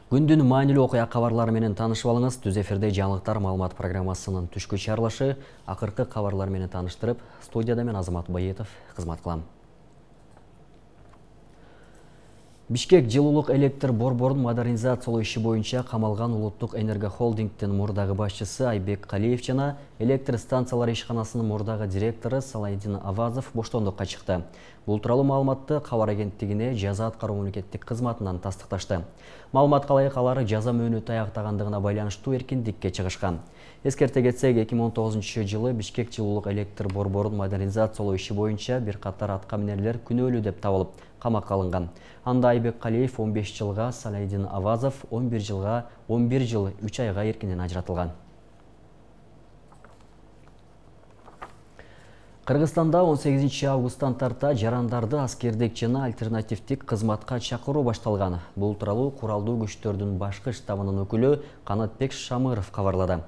Күндүн маанилүү окуя кабарлары менен таанышып алыңыз. Түз эфирде жаңылыктар маалымат программасынын түшкү чыгарылышы. Акыркы кабарлар менен тааныштырып, студияда мен Азамат Байетов кызмат кылам. Бишкек жылуулук электр борборун модернизациялоо иши боюнча камалган Улуттук энергохолдингдин мурдагы башчысы Айбек Калиев жана электр станциялары ишканасынын мурдагы директору Салайдин Авазов боштондукка чыкты. Бул тууралуу маалыматты кабар агенттигине жаза аткаруу мамлекеттик кызматынан тастыкташты. Маалыматка ылайык алар жаза мөөнөтү аяктагандыгына байланыштуу эркиндикке чыгышкан. Эскерте кетсек, 2019-жылы Бишкек жылуулук электр борборун модернизациялоо иши боюнча бир катар атка минерлер күнөөлүү деп табылып, камакка алынган. Анда Айбек Калиев 15 жылга, Салайдин Авазов 11 жылга, 11 жыл 3 айга эркинен ажыратылган. Кыргызстанда 18 августтан тарта жарандарды аскердик жана альтернативдик кызматка чакыруу башталган. Бул тууралуу куралдуу күчтөрдүн башкы штабынын өкүлү Канатбек Шамыров кабарлады.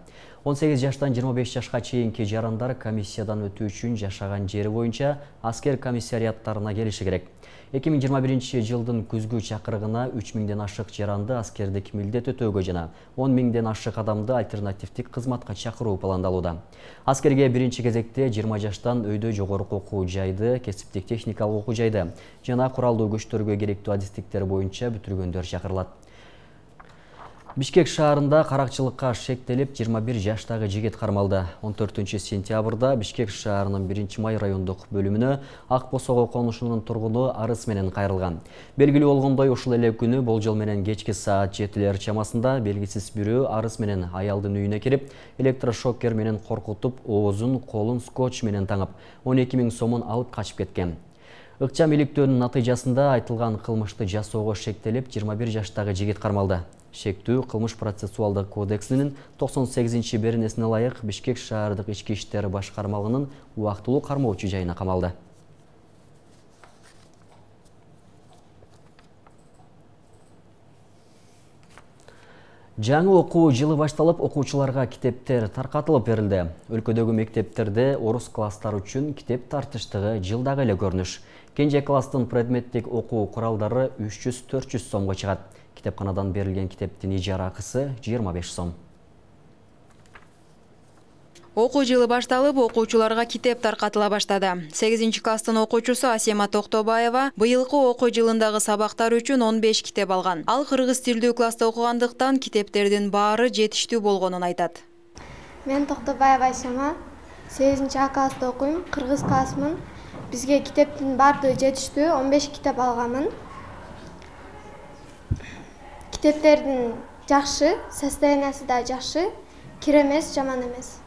18 жаштан 25 жашка чейинки жарандар комиссиядан өтүү үчүн жашаган жери боюнча аскер комиссариаттарына келиши керек. 2021 жылдын күзгү чакырыгына 3000ден ашык жаранды аскердик милдет өтөөгө жана 10.000ден ашык адамды альтернативдик кызматка чакыруу пландалууда. Аскерге биринчи кезекте 20 жаштан өйдө жогорку окуу жайды, кесиптик техникалык окуу жайды жана куралдуу күчтөргө керектүү адистиктер боюнча бүтүргөндөр чакырылат. Бишкек шаарында каракчылыкка шектелип 21 жаштагы жигит кармалды. 14 сентябрда Бишкек шаарынын 1-Май райондук бөлүмүнө Ак Босого конушунун тургуну арыз менен кайрылган. Белгилүү болгондой, ушул эле күнү болжол менен кечки саат 7-лер чамасында белгисиз бирөө арыз менен аялдын үйүнө кирип, электрошокер менен коркутуп, оозун, колун скотч менен таңып, 12 000 сомун алып качып кеткен. Ыкчам иликтөөнүн натыйжасында айтылган кылмышты жасоого шектелип 21 жаштагы жигит кармалды. Шектүү кылмыш процессуалдык кодексинин 98-беренесине ылайык Бишкек шаардык ички иштер башкармалыгынын убактылуу кармоочу жайына камалды. Жаңы окуу жылы башталып, окуучуларга китептер таркатылып берилди. Өлкөдөгү мектептерде орус класстары үчүн китеп тартыштыгы жылдагы эле көрүнүш. Кенже класстын предметтик окуу куралдары 300-400 сомго чыгат. Китепканадан берилген китептин ижара акысы 25 сом. Окуу жылы башталып, окуучуларга китеп таркатыла баштады. 8-класстын окуучусу Асема Токтобаева быйылкы окуу жылындагы сабактар үчүн 15 китеп алган. Ал кыргыз тилдүү класста окугандыктан китептердин баары жетиштүү болгонун айтат. Мен Токтобаева Асема 8 класста окуйм, кыргыз классмын. Бизге китептин баардыгы жетиштүү, 15 китеп алганмын. Китептердин жакшы, состояниясы да жакшы, кир эмес, жаман эмес.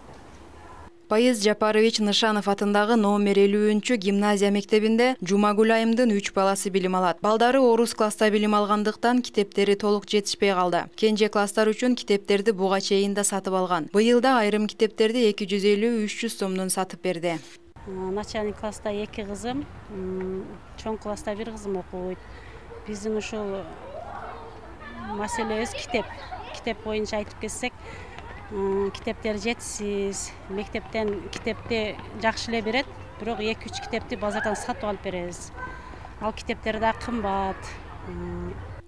Пайыз Жапарович Нышанов атындагы номер 50 гимназия мектебинде Жумагүл айымдын 3 баласы билим алат. Балдары орус класста билим алгандыктан китептери толук жетишпей калды. Кенже класстар үчүн китептерди буга чейин да сатып алган. Быйылда айрым китептерди 250-300 сомдон сатып берди. Начальник класста 2 кызым, чоң класста 1 кызым окуйт. Биздин ушул маселебиз китеп боюнча айтып кетсек, китептер жетишсиз. Мектептен китепти жакшы эле берет, бирок 2-3 китепти базардан сатып алып беребиз. Ал китептер да кымбат.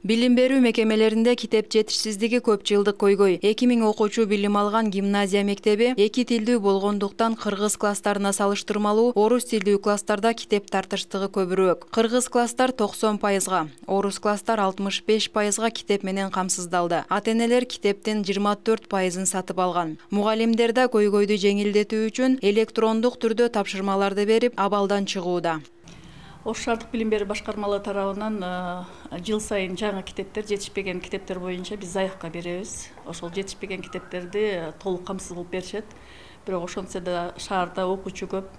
Билим берүү мекемелеринде китеп жетишсиздиги көп жылдык көйгөй. 2000 окуучу билим алган гимназия мектеби эки тилдүү болгондуктан кыргыз класстарына салыштырмалуу орус тилдүү класстарда китеп тартыштыгы көбүрөөк. Кыргыз класстар 90%, орус класстар 65%га китеп менен камсыздалды. Ата-энелер китептин 24%-ын сатып алган. Мугалимдер да көйгөйдү жеңилдетүү үчүн электрондук түрдө тапшырмаларды берип, абалдан чыгууда. Ош шаардык билим берүү башкармалыгы тарабынан жыл сайын жаңы китептер, жетишпеген китептер боюнча биз заявка беребиз. Ошол жетишпеген китептерди толук камсыз кылып беришет. Бирок ошентсе да шаарда окуучу көп,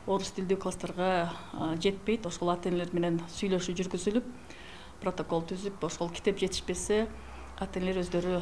орус тилдүү класстарга жетпейт. Ошол ата-энелер менен сүйлөшүү жүргүзүлүп, протокол түзүп, ошол китеп жетишпесе, ата-энелер өздөрү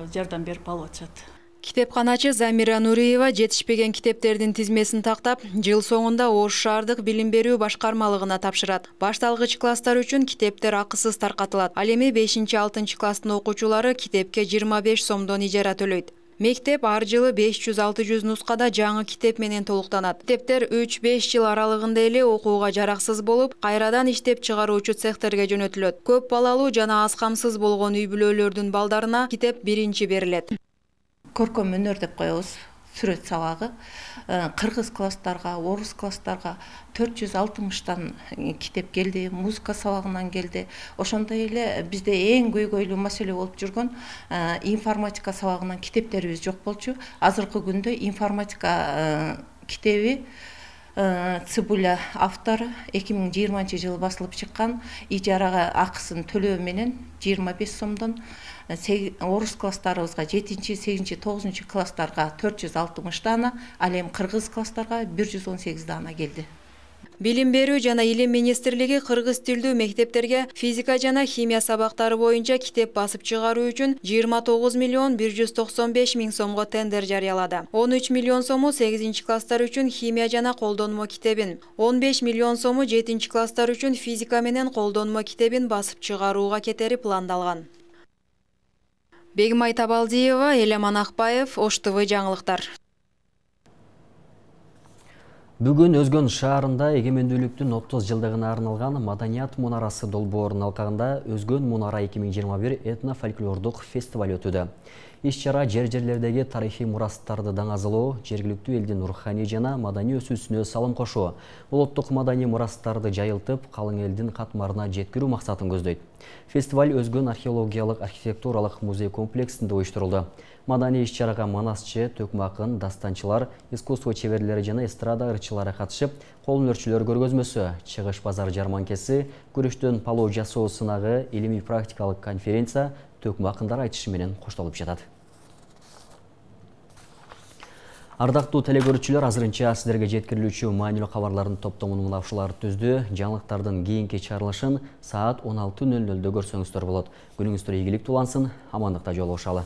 жардам берип алып атышат. Китепканачы Замира Нуриева жетишпеген китептердин тизмесин тактап, жыл соңунда Ош шаардык билим берүү башкармалыгына тапшырат. Башталгыч класстар үчүн китептер акысыз таркатылат. Ал эми 5-6 класстын окуучулары китепке 25 сомдон ижара төлөйт. Мектеп ар жылы 500-600 нускада жаңы китеп менен толуктанат. Китептер 3-5 жыл аралыгында эле окууга жараксыз болуп, кайрадан иштеп чыгаруучу цехтерге жөнөтүлөт. Көп балалуу жана аз камсыз болгон үй бүлөлөрдүн балдарына китеп биринчи берилет. Көркөм өнөр деп коебуз, сүрөт сабагы. Кыргыз класстарга, орус класстарга 460тан китеп келди, музыка сабагынан келди. Ошондой эле бизде эң көйгөйлүү маселе болуп жүргөн информатика сабагынан китептерибиз жок болчу. Азыркы күндө информатика китеби Цыбуля автору 2020 жылы басылып чыккан, ижарага акысын төлөө менен 25 сомдон орус класстарыбызга 7-8, 9 класстарга 460 дана, ал эми кыргыз класстарга 118 дана келди. Билим берүү жана илим министрлиги кыргыз тилдүү мектептерге физика жана химия сабактары боюнча китеп басып чыгаруу үчүн 29 миллион 195 миң сомго тендер жарыялады. 13 миллион сому 8-класстар үчүн химия жана колдонмо китебин, 15 миллион сому 7-класстар үчүн физика менен колдонмо китебин басып чыгарууга кетери пландалган. Бегимай Табалдиева, Элеман Акбаев, Ош ТВ жаңылыктар. Бүгүн Өзгөн шаарында эгемендүүлүктүн 30 жылдыгына арналган Маданият мунарасы долбоорунун алкагында Өзгөн мунара 2021 этно-фольклордук фестиваль өтүүдө. Иш-чара жер-жерлердеги тарыхый мурастарды даңазалоо, жергиликтүү элдин руханий жана маданий өсүүсүнө салым кошуу, улуттук маданий мурастарды жайылтып, калың элдин катмарына жеткирүү максатын көздөйт. Фестиваль Өзгөн археологиялык архитектуралык музей комплексинде уюштурулду. Маданий иш-чарага манасчы, төкмө акын, дастанчылар, искусство чеберлери жана эстрада ырчылары катышып, кол өнөрчүлөр көргөзмөсү, чыгыш базар жарманкеси, күрүштөн палоо жасоо сынагы, илимий практикалык конференция төкмө акындар айтышы менен коштолуп жатат. Ардактуу телекөрүүчүлөр, азырынча сиздерге жеткирилүүчү маанилүү кабарлардын топтомун мына ушулар түздү. Жаңылыктардын кийинки чыгарылышын саат 16:00 көрсөңүздөр болот. Күнүңүздөр ийгиликтүү улансын, амандыкта жолугушалы.